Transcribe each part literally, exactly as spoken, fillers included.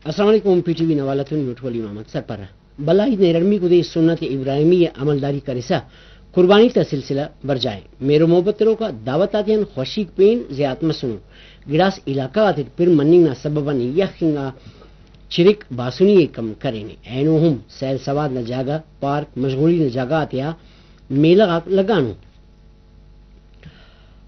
السلام علیکم، P T V نا حوالہ تون یوٹولی محمد سرپرہ۔ بھلا عید نا ارڑمیکو دے سنت ابراہیمی ءِ عملداری کرسا قربانی تا سلسلہ برجا ءِ۔ مہر و محبت تروکا دعوت آتیان خوشیک پین زیات مسنو۔ گڑاس علاقہ غاتیٹ پِر مننگ نا سبب آن یخ انگا چرک باسنی ءِ کم کرینے۔ اینو ہم سیل سواد نا جاگہ، پارک، مشغولی نا جاگہ آتیا میلہ غاک لگانو۔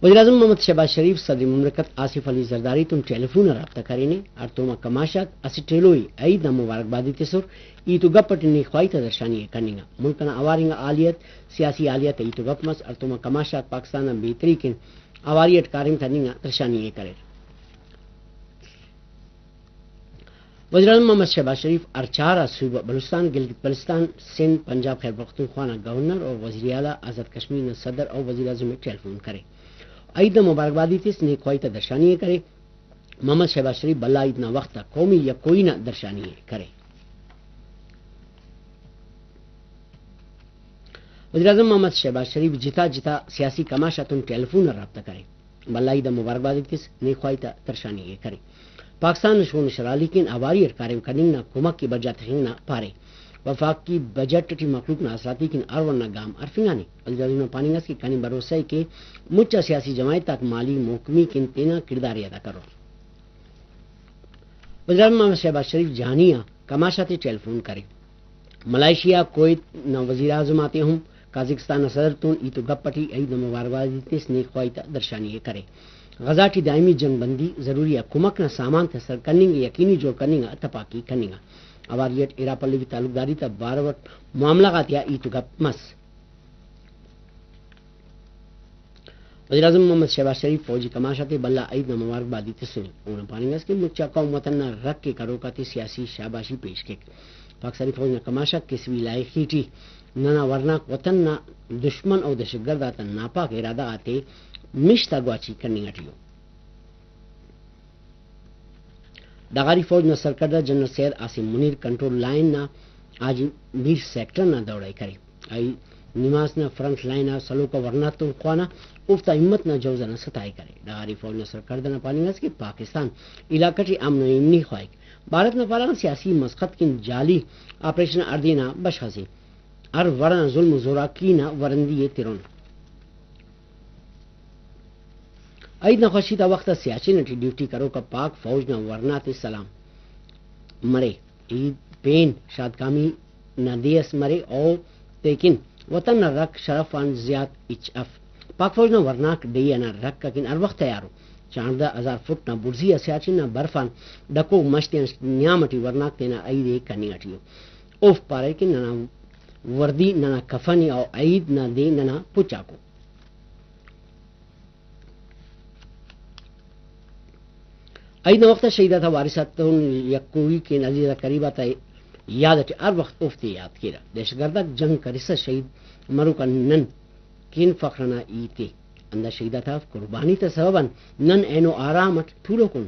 وزیراعظم محمد شہباز شریف صدر مملکت آصف علی زرداری تون ٹیلیفون آ رابطہ کرینے۔ ہڑتوم آ کماش آک اسٹ ایلو ءِ عید نا مبارکبادی تسر۔ ہیت و گپ اٹی نیک خواہی تا درشانی ءِ کننگا۔ ملک انا اوار انگا حالیت، سیاسی حالیت آ ہیت و گپ مس۔ ہڑتوم آ کماش آک پاکستان نا بہتری کن اواری اٹ کاریم کننگ نا درشانی ءِ کریر۔ وزیراعظم محمد شہباز شریف ہرچار آ صوبہ بلوچستان، گلگت بلتستان، سندھ، پنجاب، خیبر پختونخوا نا گورنر اور وزیر اعلیٰ، آزاد کشمیر نا صدر اور وزیراعظم ءِ ٹیلیفون کرے۔ عید نا مبارکبادی تس، نیک خواہی تا درشانی ءِ کرے۔ محمد شہباز شریف بھلا عید نا وخت آ قومی یکوئی نا درشانی ءِ کرے۔ وزیراعظم محمد شہباز شریف جتا جتا سیاسی کماش آتون ٹیلیفون آ رابطہ کرے۔ بھلا عید آ مبارکباد ءِ تس، نیک خواہی تا درشانی ءِ کرے۔ پاکستان نا شون و شرحالی کن اواری اٹ کاریم کننگ نا کمک ءِ برجا تخنگ نا پارے۔ وفاقی بجٹ اٹی مخلوق نا آسراتی کن ہر وڑ نا گام ہرفنگانے۔ وزیراعظم نا پاننگ ئس کہ کنے بھروسہ ءِ کہ مچ آ سیاسی جماعت آک مالی محکمی کن تینا کڑدار ءِ ادا کرور۔ وزیراعظم محمد شہباز شریف جہانی آ کماش آتے ٹیلیفون کرے۔ ملائیشیا، کویت نا وزیراعظم آتے ہم قازقستان نا صدر تون ہیت و گپ اٹی عید نا مبارکبادی تس، نیک خواہی تا درشانی ءِ کرے۔ غزہ ٹی دائمی جنگ بندی، ضروری آ کمک نا سامان تسر کننگ ءِ یقینی جوڑ کننگ آ تپاکی کننگا۔ اواری اٹ ارا پلوی تعلقداری تا بارو اٹ معاملہ غاتیا ہیت و گپ مس۔ وزیراعظم محمد شہباز شریف فوجی کماش آتے بھلا عید نا مبارکبادی تسنے۔ اونا پاننگ ئس کہ مچا قوم وطن نا رکھ ءِ کروک آتے سیاسی شاباشی پیش کیک۔ پاکستانی فوج نا کماش آک کسوی لائخی ٹی ننا ورناک وطن نا دشمن و دہشت گرد آتا ناپاک ارادہ غاتے مش تا گواچی کننگ اٹی ءُ۔ ڈغاری فوج نا سرکڑدہ جنرل سید عاصم منیر کنٹرول لائن نا حاجی میر سیکٹر نا دورہ ءِ کرے۔ ای نماز نا فرنٹ لائن آ سلوک آ ورناتون خوانا، اوفتا ہمت نا جوزہ نا ستائ کرے۔ ڈغاری فوج نا سرکڑدہ نا پاننگ ئس کہ پاکستان علاقہ ٹی امن و ایمنی خواہک۔ بھارت نا پارہ سیاسی مسخت کن جعلی آپریشن ہڑدے نا بشخ اسے۔ ہر وڑ انا ظلم و زوراکی نا ورندی ءِ ترون۔ عید نا خوشی تا وخت آ سیاچن اٹی ڈیوٹی کروک آ پاک فوج نا ورنا تے سلام مرے۔ عید پین شادکامی نا دے اس مرے، او تیکن وطن نا رکھ شرف آن زیات ہچ اف۔ پاک فوج نا ورناک ڈیہہ انا رکھ اکن ہر وخت تیار ءُ۔ چانڑدہ ہزار فٹ نا بڑزی آ سیاچن نا برف آن ڈکو مش تیان نیام اٹی ورناک تینا عید ءِ کننگ اٹی ءُ۔ اوفک پاریر کہ ننا وردی ننا کفن ءِ، او عید نا دے ننا پچ آکو۔ عید نا وخت آ شہید آتا وارث آتون یکوئی کن عزیز آ قریب آتا یاد اٹی ہر وخت اوفتے یات کیرہ۔ دہشت گرد آک جنگ کرسا شہید مروک آ نن کن فخر ئنا ہیت ءِ۔ ہندا شہید آتا قربانی تا سوب آن نن اینو آرام اٹ تولوک ان۔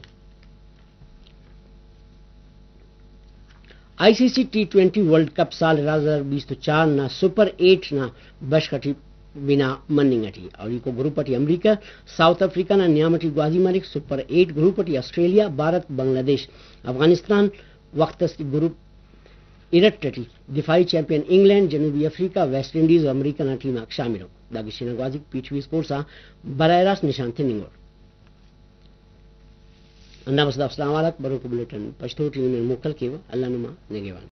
I C C T twenty world cup سال ارا ہزار بیست و چار نا سپر ایٹ نا بشخ اٹی بنا مننگ اٹی۔ اولیکو گروپ اٹی امریکہ، ساؤتھ افریقہ نا نیام اٹی گوازی مریک۔ سپر ایٹ گروپ اٹی آسٹریلیا، بھارت، بنگلہ دیش، افغانستان، وخت اس گروپ ارٹ اٹی دفاعی چیمپئن انگلینڈ، جنوبی افریقہ، ویسٹ انڈیز و امریکہ نا ٹیم آک شامل ءُ۔ دا گچین نا گوازیک پی ٹی وی اسپورٹس آ براہ راست نشان تننگ ءُ۔ ہندا بس دا اسلام آباد آک بروکو بلیٹن پشتو ٹی نمے موکل کیوہ۔ اللہ نما نگہبان۔